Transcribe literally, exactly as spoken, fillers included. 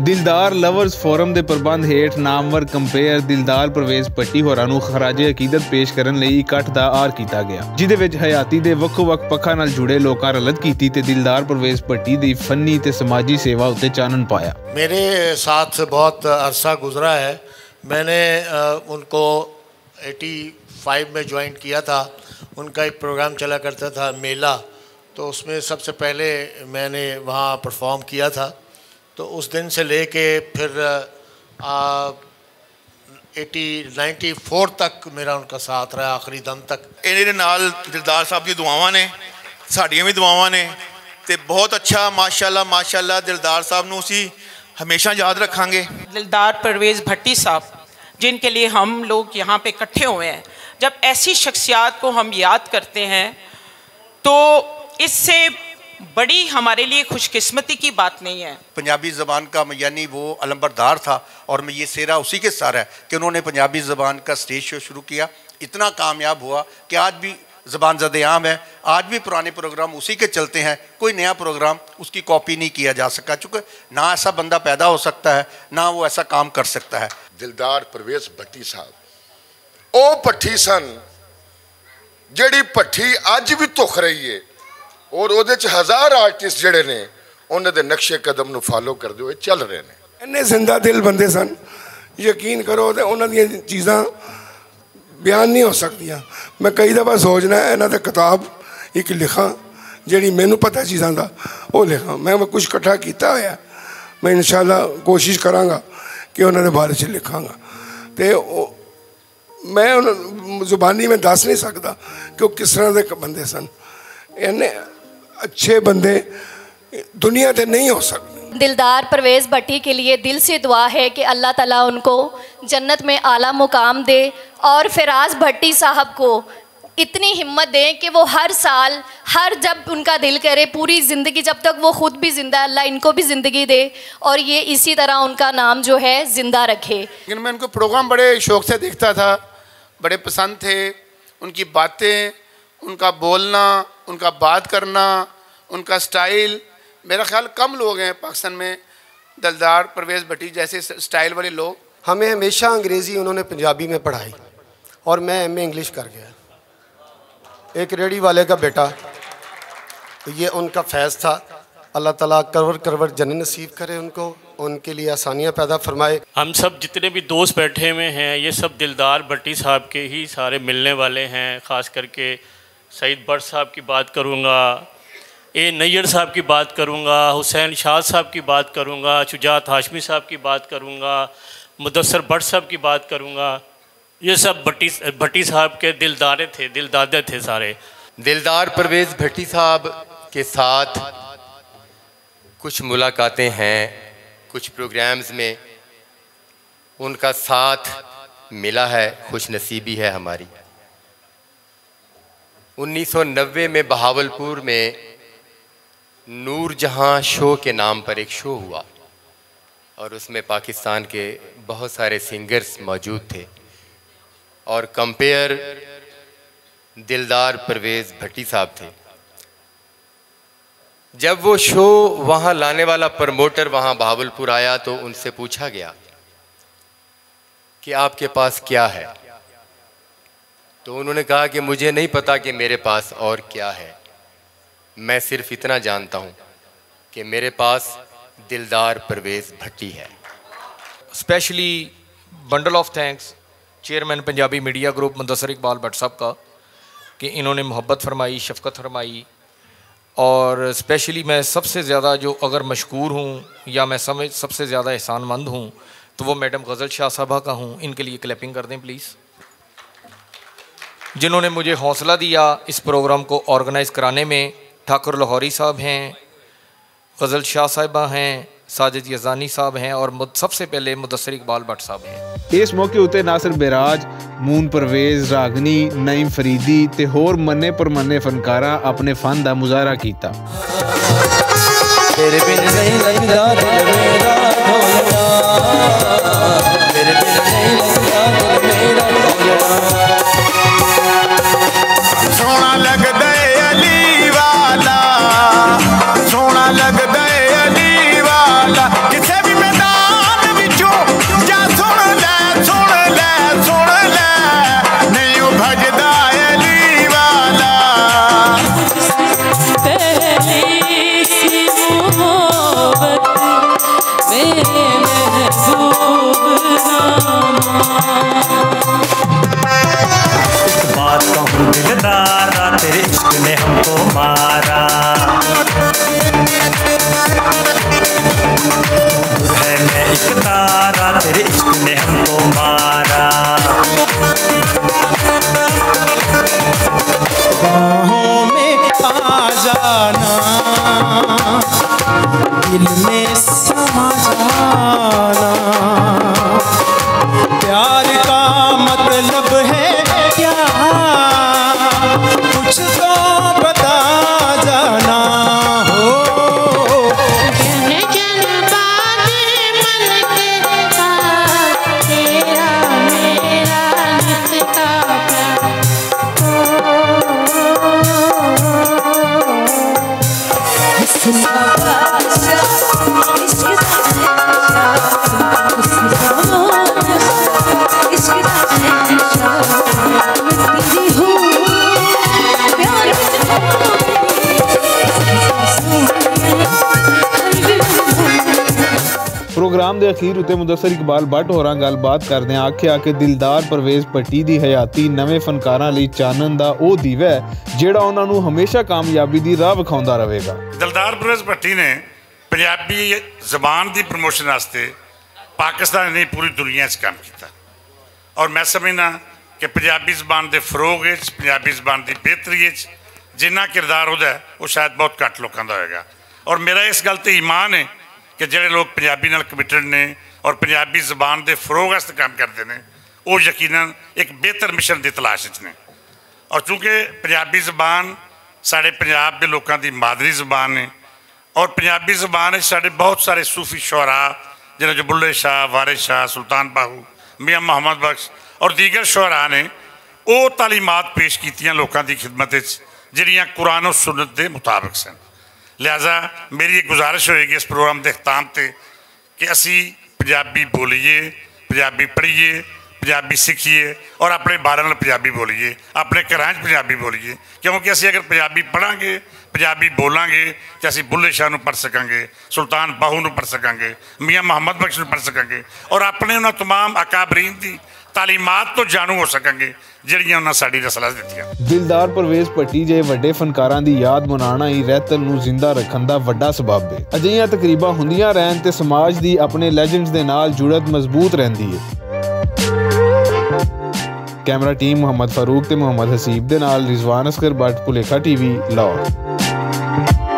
دلدار lovers forum دے پربند ہیٹھ نامور کمپیئر دلدار پرویز پٹی ہوراں نوں خراج عقیدت پیش کرن لئی اکٹھ دا آر کیتا گیا، جدے وچ حیاتی دے وکھ وکھ پکھاں نال جڑے لوکاں رلت کیتی تے دلدار پرویز پٹی دی فنی تے سماجی سیوا اتے چانن پایا۔ میرے ساتھ بہت عرصہ گزرا ہے۔ میں نے ان کو ایٹی فائیو میں جوائن کیا تھا۔ ان کا ایک پروگرام چلا کرتا تھا، میلہ، تو اس میں سب سے پہلے میں نے وہاں پرفارم کیا تھا۔ تو اس دن سے لے کے پھر ایٹی نائنٹی فور تک میرا ان کا ساتھ رہا، آخری دم تک۔ انہاں دے نال دلدار صاحب دی دعاواں نے، ساڈیاں وی دعاواں نے۔ تے بہت اچھا، ماشاءاللہ، ماشاءاللہ، دلدار صاحب نوں اسی ہمیشہ یاد رکھاں گے۔ دلدار پرویز بھٹی صاحب، جن کے لیے ہم لوگ یہاں پہ اکٹھے ہوئے ہیں، جب ایسی شخصیات کو ہم یاد کرتے ہیں تو اس سے بڑی ہمارے لیے خوش قسمتی کی بات نہیں ہے۔ پنجابی زبان کا یعنی وہ علمبردار تھا، اور میں یہ سیرا اسی کے سر ہے کہ انہوں نے پنجابی زبان کا اسٹیج شو شروع کیا، اتنا کامیاب ہوا کہ آج بھی زبان زد عام ہے۔ آج بھی پرانے پروگرام اسی کے چلتے ہیں، کوئی نیا پروگرام اس کی کاپی نہیں کیا جا سکا، چونکہ نہ ایسا بندہ پیدا ہو سکتا ہے، نہ وہ ایسا کام کر سکتا ہے۔ دلدار پرویز بھٹی صاحب، او پٹھی سن، جیڑی پٹھی اج بھی تخ رہی ہے، اور اودے چ ہزار آرٹسٹ جڑے نے، انہاں دے نقشے قدم نوں فالو کردے ہوئے چل رہے نے۔ انہیں زندہ دل بندے سن، یقین کرو تے انہاں دیاں چیزاں بیان نہیں ہو سکدیاں۔ میں کئی دفعہ سوچنا ہے انہاں تے کتاب ایک لکھاں، جیڑی مینوں پتہ چیزاں دا، او لکھاں۔ میں کچھ اکٹھا کیتا ہویا، میں انشاءاللہ کوشش کراں گا کہ انہاں دے بارے چ لکھاں گا۔ تے او میں انہاں زبانی میں دس نہیں سکدا کہ وہ کس طرح دے بندے سن۔ اینے اچھے بندے دنیا تے نہیں ہو سکدے۔ دلدار پرویز بھٹی کے لیے دل سے دعا ہے کہ اللہ تعالیٰ ان کو جنت میں اعلیٰ مقام دے، اور فراز بھٹی صاحب کو اتنی ہمت دیں کہ وہ ہر سال، ہر جب ان کا دل کرے، پوری زندگی، جب تک وہ خود بھی زندہ ہے، اللہ ان کو بھی زندگی دے اور یہ اسی طرح ان کا نام جو ہے زندہ رکھے۔ لیکن میں ان کو پروگرام بڑے شوق سے دیکھتا تھا، بڑے پسند تھے۔ ان کی باتیں، ان کا بولنا، ان کا بات کرنا، ان کا سٹائل، میرا خیال کم لوگ ہیں پاکستان میں دلدار پرویز بھٹی جیسے س-، سٹائل والے لوگ۔ ہمیں ہمیشہ انگریزی انہوں نے پنجابی میں پڑھائی، اور میں ایم اے انگلش کر گیا۔ ایک ریڑھی والے کا بیٹا، یہ ان کا فیض تھا۔ اللہ تعالیٰ کرور کرور جنت نصیب کرے ان کو، ان کے لیے آسانیاں پیدا فرمائے۔ ہم سب جتنے بھی دوست بیٹھے ہوئے ہیں، یہ سب دلدار بھٹی صاحب کے ہی سارے ملنے والے ہیں، خاص کر کے سعید بٹ صاحب کی بات کروں گا، اے نیئر صاحب کی بات کروں گا، حسین شاہ صاحب کی بات کروں گا، شجاعت ہاشمی صاحب کی بات کروں گا، مدثر بٹ صاحب کی بات کروں گا۔ یہ سب بھٹی، بھٹی صاحب کے دلدارے تھے، دلدادے تھے سارے۔ دلدار پرویز بھٹی صاحب کے ساتھ کچھ ملاقاتیں ہیں، کچھ پروگرامز میں ان کا ساتھ ملا ہے، خوش نصیبی ہے ہماری۔ انیس سو نوے میں بہاولپور میں نور جہاں شو کے نام پر ایک شو ہوا، اور اس میں پاکستان کے بہت سارے سنگرز موجود تھے، اور کمپیئر دلدار پرویز بھٹی صاحب تھے۔ جب وہ شو وہاں لانے والا پروموٹر وہاں بہاولپور آیا تو ان سے پوچھا گیا کہ آپ کے پاس کیا ہے؟ تو انہوں نے کہا کہ مجھے نہیں پتا کہ میرے پاس اور کیا ہے، میں صرف اتنا جانتا ہوں کہ میرے پاس دلدار پرویز بھٹی ہے۔ Specially bundle of thanks chairman Punjabi media group Mudassar Iqbal Butt صاحب کا، کہ انہوں نے محبت فرمائی، شفقت فرمائی، اور اسپیشلی میں سب سے زیادہ جو اگر مشکور ہوں یا میں سمجھ سب سے زیادہ احسان مند ہوں تو وہ میڈم غزل شاہ صاحبہ کا ہوں۔ ان کے لیے کلیپنگ کر دیں پلیز، جنہوں نے مجھے حوصلہ دیا اس پروگرام کو آرگنائز کرانے میں۔ ٹھاکر لاہوری صاحب ہیں، غزل شاہ صاحبہ ہیں، ساجد یزدانی صاحب ہیں اور مد-، سب سے پہلے مدثر اقبال بٹ صاحب ہیں۔ اس موقع اتے ناصر بیراج، مون پرویز، راگنی، نعیم فریدی تے ہور منے پرمنے فنکاراں اپنے فن دا مظاہرہ کیتا۔ تیرے بن نہیں لگدا دل میرا ڈھولنا، تیرے بن نہیں لگدا دل میرا ڈھولنا۔ سونا لگدا اے علی والا، سونا لگدا اے علی والا، کسے بھی میدان میرے محبوب نامہ۔ ایک بات کہوں دلدارا، تیرے عشق نے ہم کو مارا۔ دور ہے میں ایک تارا، تیرے عشق نے ہم کو مارا۔ باہوں میں آ جانا، دل میں سما جانا۔ پیار کا مطلب ہے کیا؟ کچھ تو بتا جانا ہو۔ جن جن باد من کے پاس، تیرا میرا نت کا پیار۔ پروگرام دے اخیر اتے مدثر اقبال بٹ ہوراں گل بات کردیاں آکھیا کہ دلدار پرویز پٹی دی حیاتی نویں فنکاراں لئی چانن دا او دیوا ہے، جیڑا انہاں نوں ہمیشہ کامیابی دی راہ وکھاوندا رہے گا۔ دلدار پرویز پٹی نے پنجابی زبان دی پروموشن واسطے پاکستان نہیں، پوری دنیا 'چ کام کیتا۔ اور میں سمجھنا کہ پنجابی زبان دے فروغ وچ، پنجابی زبان دی بہتری وچ جنہ کردار ہودا ہے، وہ شاید بہت گھٹ لوکاں دا ہوئے گا۔ اور میرا اس گل تے ایمان ہے کہ جڑے لوگ پنجابی نال کمیٹڈ نے اور پنجابی زبان دے فروغ واسطے کام کردے نے، وہ یقیناً ایک بہتر مشن دی تلاش وچ نے۔ اور چونکہ پنجابی زبان ساڈے پنجاب دے لوکاں دی مادری زبان ہے، اور پنجابی زبان وچ ساڈے بہت سارے صوفی شعراء، جنہاں چ بلے شاہ، وارث شاہ، سلطان باہو، میاں محمد بخش اور دیگر شعراء نے، او تعلیمات پیش کیتیاں لوکاں دی خدمت وچ، جڑیاں قرآن و سنت دے مطابق سن۔ لہذا میری ایک گزارش ہوئے گی اس پروگرام دے اختتام تے کہ اسی پنجابی بولیے، پنجابی پڑھیے، پنجابی سکھیے اور اپنے بارے نال پنجابی بولیے، اپنے گھراں 'چ پنجابی بولیے، کیونکہ اسی اگر پنجابی پڑھاں گے، پنجابی بولاں گے، تے اسی بلے شاہ نوں پڑھ سکاں گے، سلطان باہو نوں پڑھ سکاں گے، میاں محمد بخش نوں پڑھ سکاں گے اور اپنے انہاں تمام اکابرین دی تعلیمات تو جانو ہو سکاں گے، جڑیاں انہاں ساڈی رسالت دتیاں۔ دلدار پرویز پٹی جے وڈے فنکاراں دی یاد منانا ہی رہتل نوں زندہ رکھن دا وڈا سبب ہے۔ اجہیاں تقریباں ہوندیاں رہن تے سماج دی اپنے لیجنڈز دے نال جڑت مضبوط رہندی ہے۔ کیمرہ ٹیم محمد فاروق تے محمد حسیب دے نال رضوان اصغر بٹ، پلیکھا ٹی وی، لاہور۔